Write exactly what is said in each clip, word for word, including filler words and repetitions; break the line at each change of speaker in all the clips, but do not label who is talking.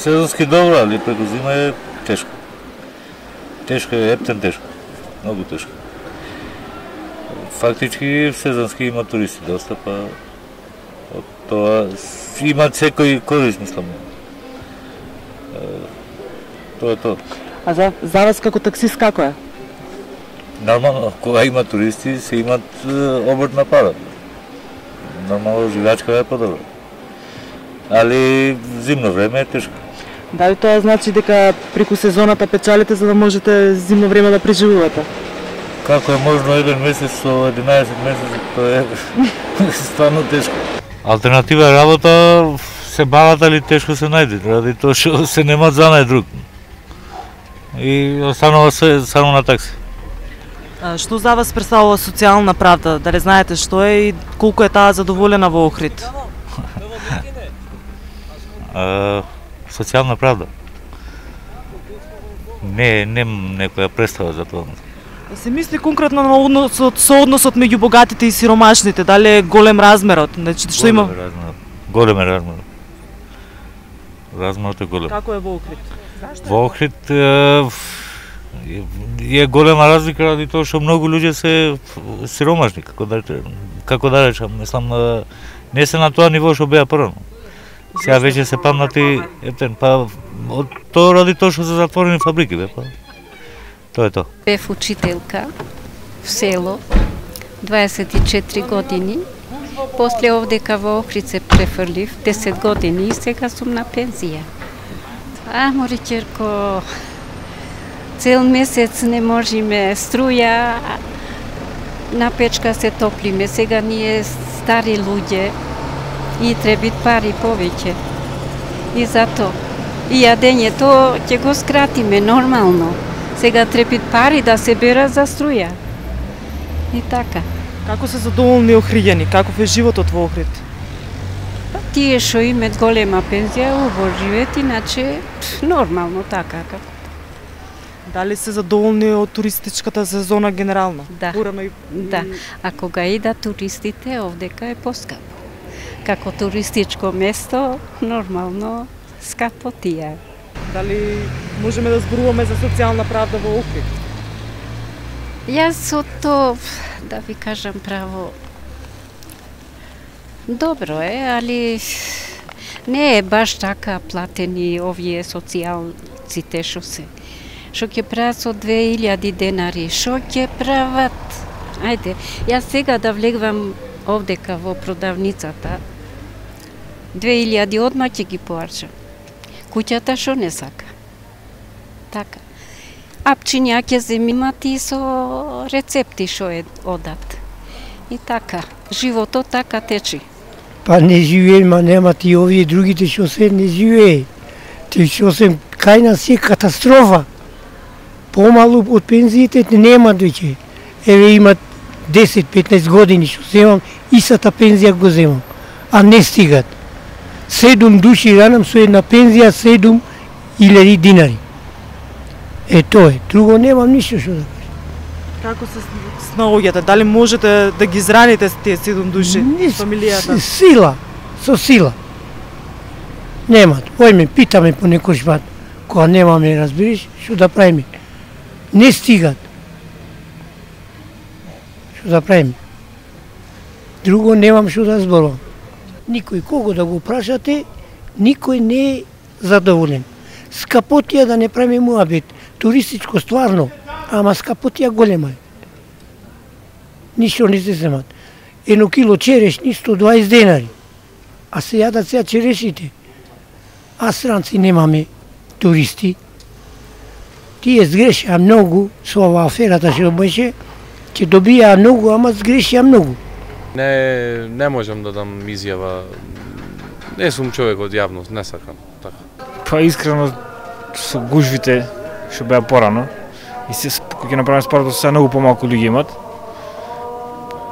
сезонски добро, али преку зима е тешко. Тешко е, ептен тешко. Многу тешко. Фактички сезонски има туристи доста, па од тоа има секој корист, мислам. Тоа е тоа.
А за, за вас како таксист како е?
Нормално, кога има туристи, се имат обрт на пара. Нормално, живачка е подобро. Али зимно време е тешко.
Дали тоа значи дека преку сезоната печалите за да можете зимно време да преживувате?
Како е можно еден месец со единаесет месеци, тоа е стварно тешко. Алтернатива работа се бават, али тешко се најде, ради тоа што се немат за нај друг. И останува се само на такси.
А, што за вас представува социјална правда? Дали знаете што е и колку е таа задоволена во Охрид?
А, социјална правда? Не, немам некоја представа за тоа.
Се мисли конкретно на односот, со односот меѓу богатите и сиромашните, дали е голем размерот? Значи, што има?
Голем е размерот. Голем е размерот. Размерот е голем.
Како е во Охрид?
Во Охрид е, е голема разлика ради тоа што многу луѓе се сиромашни, како да како да речам, мислам не се на тоа ниво што беа прво. Сега веќе се памнати, ептен, па од тоа ради тоа што се затворени фабрики, бе, па. Тоа е тоа.
Бев учителка в село, дваесет и четири години. После овдека во Охрид се префрлив десет години и сега сум на пензија. А, моричерко, цел месец не можеме струја, на печка се топлиме. Сега ние стари луѓе и требит пари повеќе. И зато и јадењето ќе го скратиме нормално. Сега требит пари да се бера за струја. И така.
Како се задоволни охриѓани? Каков е животот во Охрид?
Тие што имат голема пензија, убаво живеат, иначе нормално така.
Дали се задоволни од туристичката сезона генерално?
Да.
Урано и...
Да. А кога идат туристите, овдека е поскапо. Како туристичко место, нормално скапо тие.
Дали можеме да зборуваме за социјална правда во Охрид?
Јас од тоа, да ви кажам право, добро е, али не е баш така платени овие социјалците што се. Што ќе прават со две илјади денари, што ќе прават? Ајде, јас сега да влегвам овдека во продавницата, две илјади одма ќе ги поарчам. Куќата што не сака. Така. Апчиња ќе земимат и со рецепти што е одат. И така, животот така течи.
Па не живеем, ма немат и овие другите што се не живее. Те што се кај нас е катастрофа. Помалу од пензиите немат веќе. Еве имат десет петнаесет години што земам, истата пензија го земам, а не стигат. Седум души ранам со една пензија, седум илјади динари. Е, тоа е. Друго немам ништо што да кажам.
Како се снаоѓате? Дали можете да ги израните тие седум души, фамилијата?
Сила, со сила. Немат. Ојме, питаме по некој пат. Кога немаме, разбираш, што да правиме? Не стигат. Што да правиме? Друго немам што да зборувам. Никој кого да го прашате, никој не е задоволен. Скапотија да не правиме муабет. Туристичко стварно, ама скапотија голема е. Ништо не се земат. Едно кило черешни сто дваесет денари. А се јадат сега черешните. А странци немаме туристи. Тие сгрешија многу со ова аферата што беше, ќе добија многу, ама сгрешија многу.
Не, не можам да дам изјава. Не сум човек од јавност, не сакам. Така.
Па искрено со гужвите што беа порано и се кога ќе направиме споредба со многу помалку луѓе имат.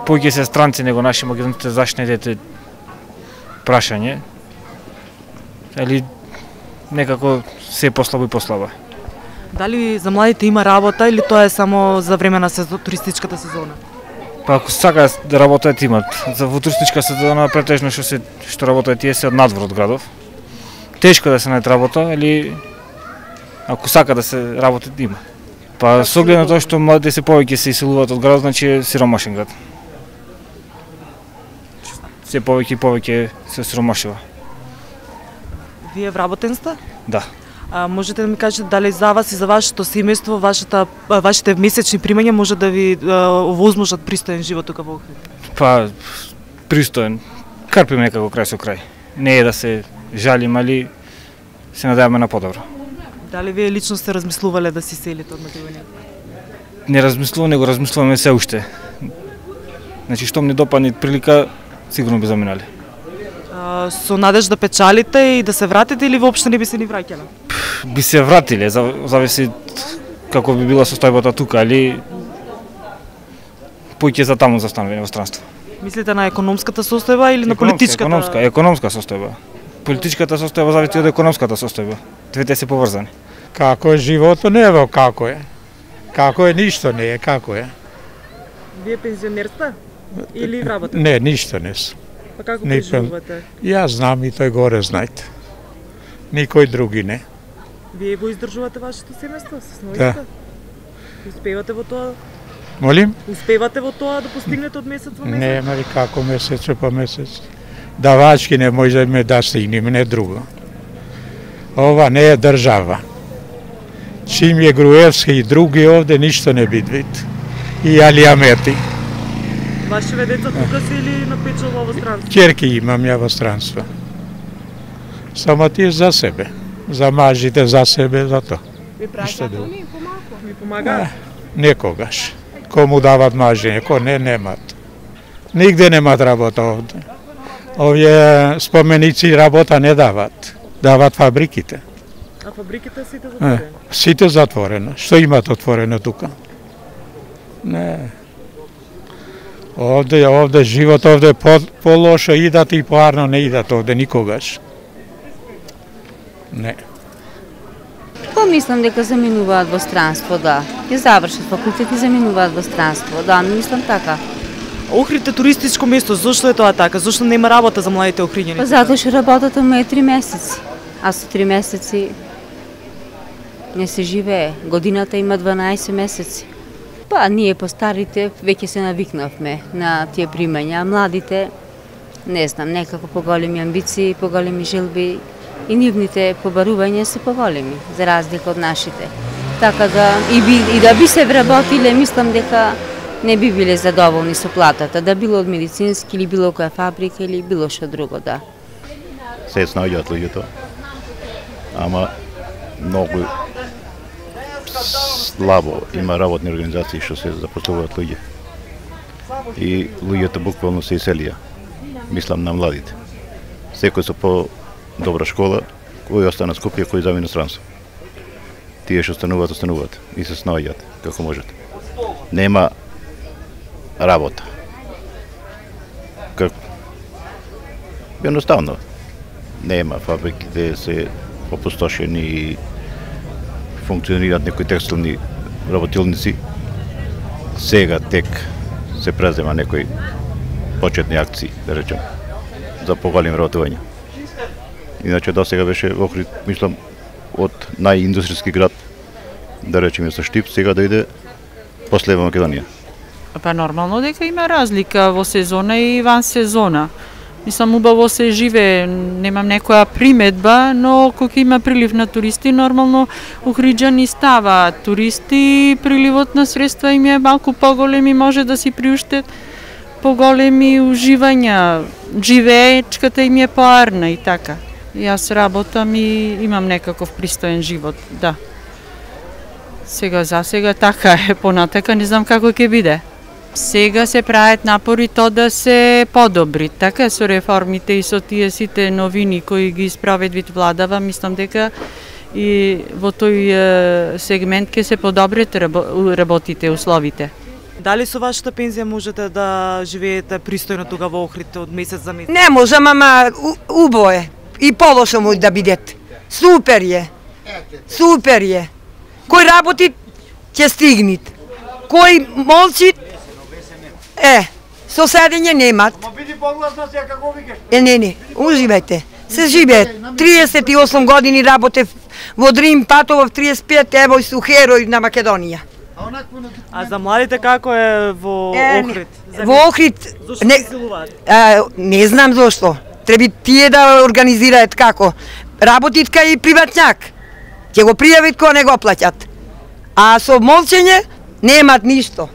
Повеќе се странци него наши македонците, зашто не идете прашање. Али некако се послабо и послабо.
Дали за младите има работа или тоа е само за време на сезон, туристичката сезона?
Па ако сакаат да работат имат. За во туристичка сезона претежно што се што работат тие се од надвор од градов. тешко да се најде работа, али ако сака да се работи, има. Па со оглед на тоа што младите се повеќе се иселуваат од градот, значи е сиромашен град. Се повеќе и повеќе се сиромашува.
Вие вработен сте?
Да.
А, можете да ми кажете дали за вас и за вашето семејство, вашата вашите месечни примања може да ви овозможат пристоен живот тука во Охрид?
Па пристоен. Карпиме некако крај со крај. Не е да се жалим, али се надеваме на подобро.
Дали вие лично сте размислувале да си селите од Македонија?
Не размислувам, него размислуваме се уште. Значи, штом не допадне прилика, сигурно би заминали.
А, со надеж да печалите и да се вратите или воопшто не би се ни враќале?
Би се вратиле, зависи како би била состојбата тука, али поќе за таму застануваме во странство.
Мислите на економската состојба или на политичката?
Економска, економска состојба. Политичката состојба зависи од економската состојба. Двете се поврзани.
Како е животот, не е во како е. Како е, ништо не е, како е.
Вие пензионер сте? Или работите?
Не, ништо не сум.
Па како
Не,
преживувате?
Јас знам и тој горе знаете. Никој други не.
Вие го издржувате вашето семејство со сноите?
Да.
Успевате во тоа?
Молим?
Успевате во тоа да постигнете од месец во месец?
Не, мали како месец по месец. Давачки не можеме да стигнеме, не друго. Ова не е држава. Чим е Груевски и други овде, ништо не бидвит. И Алиамети.
Вашиве деца тука се или на печало во странство?
Ќерки имам ја во странство. Само тие за себе. За мажите, за себе, за тоа.
Ви праќаат они помалку? Ви помагаат?
Некогаш. Кому дават мажи, неко не, немат. Нигде немат работа овде. Овие споменици работа не дават. Дават фабриките.
А фабриките сите затворени?
Сите затворено. Што имат отворено тука? Не. Овде, овде живот, овде по, по-лошо идат и поарно не идат овде никогаш. Не.
Помислам дека заминуваат во странство, да. Ќе завршат факултет и заминуваат во странство, да, мислам така.
Охрид е туристичко место, зошто е тоа така? Зошто нема работа за младите охриѓани?
Па затоа што работата му е три месеци, а со три месеци не се живее. Годината има дванаесет месеци. Па ние постарите веќе се навикнавме на тие примања, а младите, не знам, некако поголеми амбиции, поголеми желби и нивните побарувања се поголеми, за разлика од нашите. Така да и, би, и да би се вработиле, мислам дека не би биле задоволни со платата, да било од медицински или било која фабрика или било што друго, да.
Се снаоѓаат луѓето, ама многу слабо има работни организации што се запослуваат луѓе. И луѓето буквално се иселија. Мислам на младите. Секој со по добра школа, кој остана Скопје, кој замина странство. Тие што стануваат, остануваат и се снаоѓаат како можат. Нема работа. Како? Едноставно. Нема, фабриките се опустошени и функционираат некои текстилни работилници. Сега тек се презема некои почетни акции, да речем, за поголем работување. Иначе до сега беше Охрид, мислам, од најиндустријски град, да речеме со Штип, сега да иде после Македонија.
Па нормално дека има разлика во сезона и ван сезона. Мислам, убаво се живее, немам некоја приметба, но кога има прилив на туристи, нормално охриѓани става туристи, приливот на средства им е малку поголем и може да си приуштат поголеми уживања, живеечката им е поарна и така. Јас работам и имам некаков пристоен живот, да. Сега за сега така е, понатака не знам како ќе биде. Сега се прават напори тоа да се подобри, така со реформите и со тие сите новини кои ги испроведвит владава, мислам дека и во тој сегмент ќе се подобрат работите, условите.
Дали со вашата пензија можете да живеете пристојно тука во Охрид од месец за месец?
Не можам, ама убо е. И полошо може да бидете. Супер е. Супер е. Кој работи, ќе стигнит. Кој молчи, е, со седење немат. Е, не, не, уживајте. се живее. триесет и осум години работев во Дрим, патував триесет и пет, ево и су херој на Македонија.
А за младите како е во
Е,
Охрид?
Во Охрид,
Зошто
не,
се силуваат?
а, не знам зошто. Треба тие да организираат како. Работит кај приватњак. Ќе го пријавит кога не го плаќат. А со молчење немат ништо.